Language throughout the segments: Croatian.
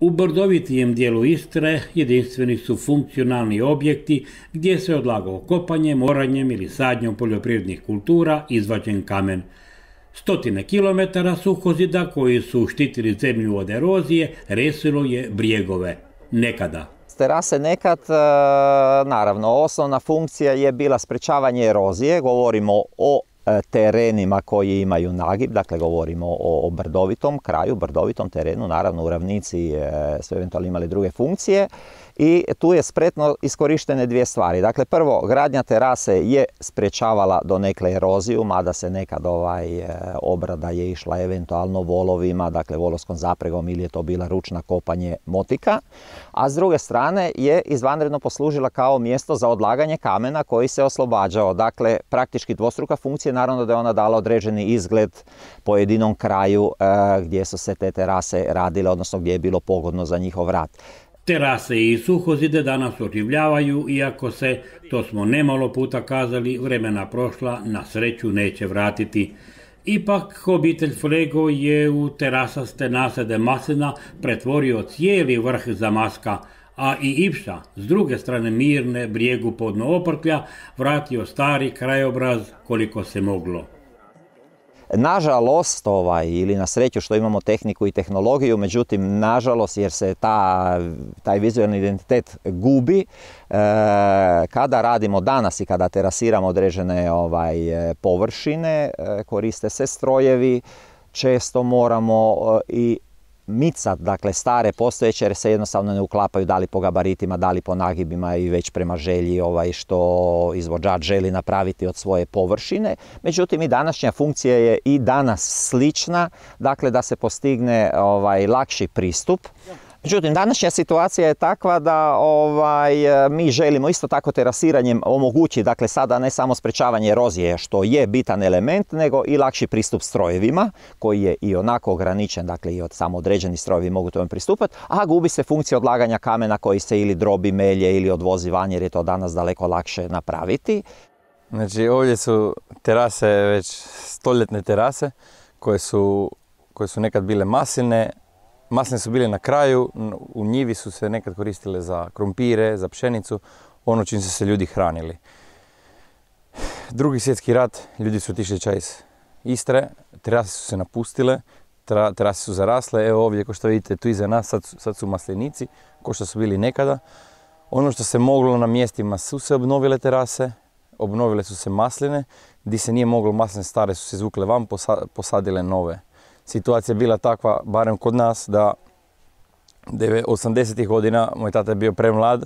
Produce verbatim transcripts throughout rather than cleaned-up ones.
U brdovitijem dijelu Istre jedinstveni su funkcionalni objekti gdje se odlagao kopanjem, oranjem ili sadnjom poljoprivrednih kultura izvađen kamen. Stotine kilometara suhozida koji su štitili zemlju od erozije resilo je brijegove. Nekada. Terase nekad, naravno, osnovna funkcija je bila sprečavanje erozije, govorimo o terenima koji imaju nagib, dakle govorimo o, o brdovitom kraju, brdovitom terenu, naravno u ravnici su eventualno imali druge funkcije i tu je spretno iskorištene dvije stvari. Dakle, prvo, gradnja terase je sprečavala donekle eroziju, mada se nekad ovaj, obrada je išla eventualno volovima, dakle volovskom zapregom ili je to bila ručna kopanje motika, a s druge strane je izvanredno poslužila kao mjesto za odlaganje kamena koji se oslobađao. Dakle, praktički dvostruka funkcija, naravno da je ona dala određeni izgled pojedinom kraju e, gdje su se te terase radile, odnosno gdje je bilo pogodno za njihov rad. Terase i suhozide danas oživljavaju, iako se, to smo nemalo puta kazali, vremena prošla na sreću neće vratiti. Ipak, obitelj Flego je u terasaste nasade maslina pretvorio cijeli vrh zamaska, a i Ipša, s druge strane Mirne, brijegu podno Oprtlja, vratio stari krajobraz koliko se moglo. Nažalost, ovaj, ili na sreću što imamo tehniku i tehnologiju, međutim, nažalost, jer se ta, taj vizualni identitet gubi, e, kada radimo danas i kada terasiramo određene ovaj, površine, e, koriste se strojevi, često moramo e, i micat, dakle stare postojeće, jer se jednostavno ne uklapaju da li po gabaritima, da li po nagibima i već prema želji ovaj, što izvođač želi napraviti od svoje površine. Međutim, i današnja funkcija je i danas slična, dakle da se postigne ovaj, lakši pristup. Međutim, današnja situacija je takva da ovaj, mi želimo isto tako terasiranjem omogućiti, dakle sada ne samo sprečavanje erozije, što je bitan element, nego i lakši pristup strojevima, koji je i onako ograničen, dakle i od samo određeni strojevi mogu tome pristupati, a gubi se funkcija odlaganja kamena koji se ili drobi, melje ili odvozi van, jer je to danas daleko lakše napraviti. Znači ovdje su terase, već stoljetne terase, koje su, koje su nekad bile masline. Masline su bile na kraju, u njivi su se nekad koristile za krumpire, za pšenicu, ono čim su se ljudi hranili. Drugi svjetski rat, ljudi su otišli ča iz Istre, terase su se napustile, terase su zarasle, evo ovdje ko što vidite tu iza nas, sad, sad su maslinici, ko što su bili nekada. Ono što se moglo na mjestima su se obnovile terase, obnovile su se masline, gdje se nije moglo, masline stare su se izvukle van, posadile nove. Situacija je bila takva, barem kod nas, da osamdesetih godina moj tata je bio premlad,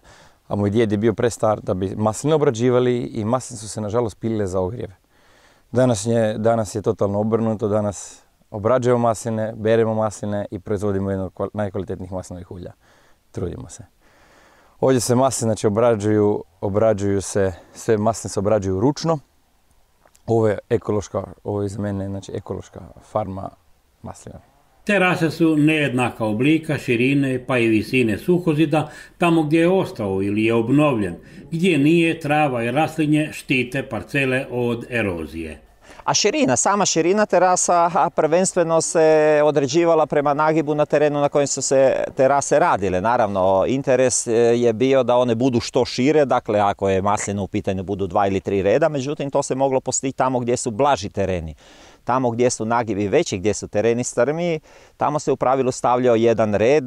a moj djed je bio prestar da bi masline obrađivali i masline su se nažalost pilile za ogrjev. Danas je, danas je totalno obrnuto, danas obrađujemo masline, beremo masline i proizvodimo jedno od najkvalitetnijih maslinovih ulja. Trudimo se. Ovdje se masline znači, obrađuju, obrađuju se, sve masline se obrađuju ručno. Ovo je ekološka, ovo je za mene znači, ekološka farma maslina. Terase su nejednaka oblika, širine pa i visine suhozida tamo gdje je ostao ili je obnovljen, gdje nije, trava i raslinje štite parcele od erozije. A širina, sama širina terasa prvenstveno se određivala prema nagibu na terenu na kojem su se terase radile. Naravno, interes je bio da one budu što šire, dakle ako je maslina u pitanju budu dva ili tri reda, međutim to se moglo postići tamo gdje su blaži tereni. Tamo gdje su nagibi veći, gdje su tereni strmiji, tamo se u pravilu stavljao jedan red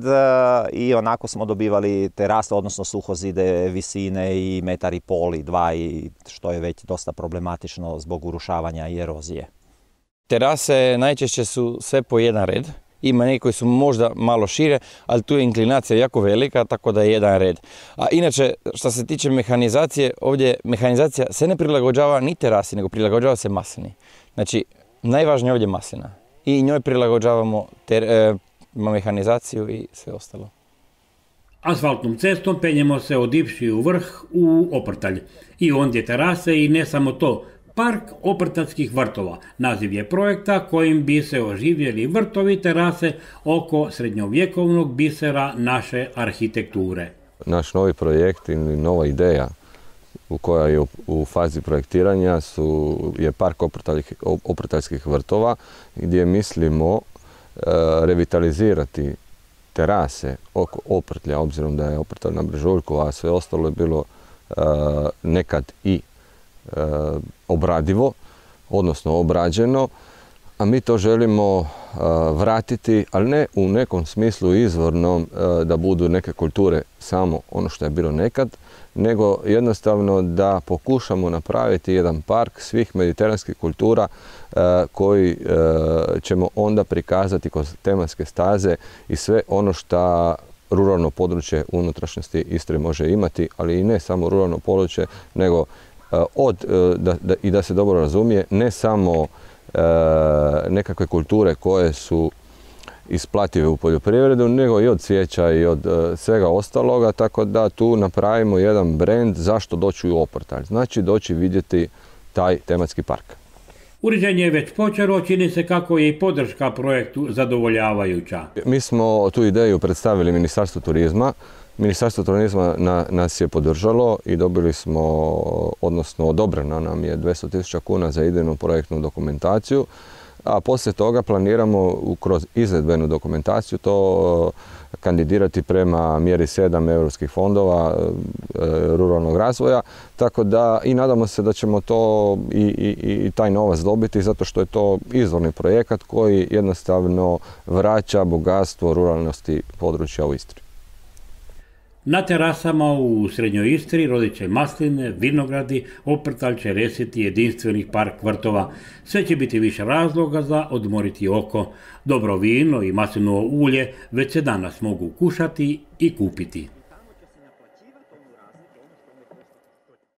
i onako smo dobivali terase, odnosno suhozide visine i metar i pol i dva, i što je već dosta problematično zbog urušavanja i erozije. Terase najčešće su sve po jedan red. Ima neki koji su možda malo šire, ali tu je inklinacija jako velika, tako da je jedan red. A inače, što se tiče mehanizacije, ovdje mehanizacija se ne prilagođava ni terasi, nego prilagođava se maslini. Znači, najvažnije ovdje je maslina i njoj prilagođavamo ter, e, mehanizaciju i sve ostalo. Asfaltnom cestom penjemo se od Ipši u vrh u Oprtalj. I ondje terase i ne samo to, Park oprtaljskih vrtova. Naziv je projekta kojim bi se oživjeli vrtovi terase oko srednjovjekovnog bisera naše arhitekture. Naš novi projekt ili nova ideja u koja je u, u fazi projektiranja su, je Park oprtaljskih vrtova gdje mislimo e, revitalizirati terase oko Oprtlja, obzirom da je Oprtalj na brežuljku, a sve ostalo je bilo uh, nekad i uh, obradivo, odnosno obrađeno, a mi to želimo uh, vratiti, ali ne u nekom smislu izvornom uh, da budu neke kulture samo ono što je bilo nekad, nego jednostavno da pokušamo napraviti jedan park svih mediteranskih kultura uh, koji uh, ćemo onda prikazati kroz tematske staze i sve ono što ruralno područje unutrašnjosti Istre može imati, ali i ne samo ruralno područje, nego uh, od, uh, da, da, i da se dobro razumije, ne samo E, nekakve kulture koje su isplative u poljoprivredu, nego i od cvijeća i od e, svega ostaloga, tako da tu napravimo jedan brend zašto doći u Oprtalj. Znači doći vidjeti taj tematski park. Uređenje je već počelo, čini se kako je i podrška projektu zadovoljavajuća. Mi smo tu ideju predstavili Ministarstvu turizma. Ministarstvo turizma na, nas je podržalo i dobili smo, odnosno odobreno nam je dvjesto tisuća kuna za idejnu projektnu dokumentaciju, a poslije toga planiramo kroz izvedbenu dokumentaciju to kandidirati prema mjeri sedam europskih fondova e, ruralnog razvoja, tako da i nadamo se da ćemo to i, i, i taj novac dobiti, zato što je to izvorni projekat koji jednostavno vraća bogatstvo ruralnosti područja u Istri. Na terasama u Srednjoj Istri rodit će masline, vinogradi, Oprtalj će resiti jedinstvenih park vrtova. Sve će biti više razloga za odmoriti oko. Dobro vino i maslinovo ulje već se danas mogu kušati i kupiti.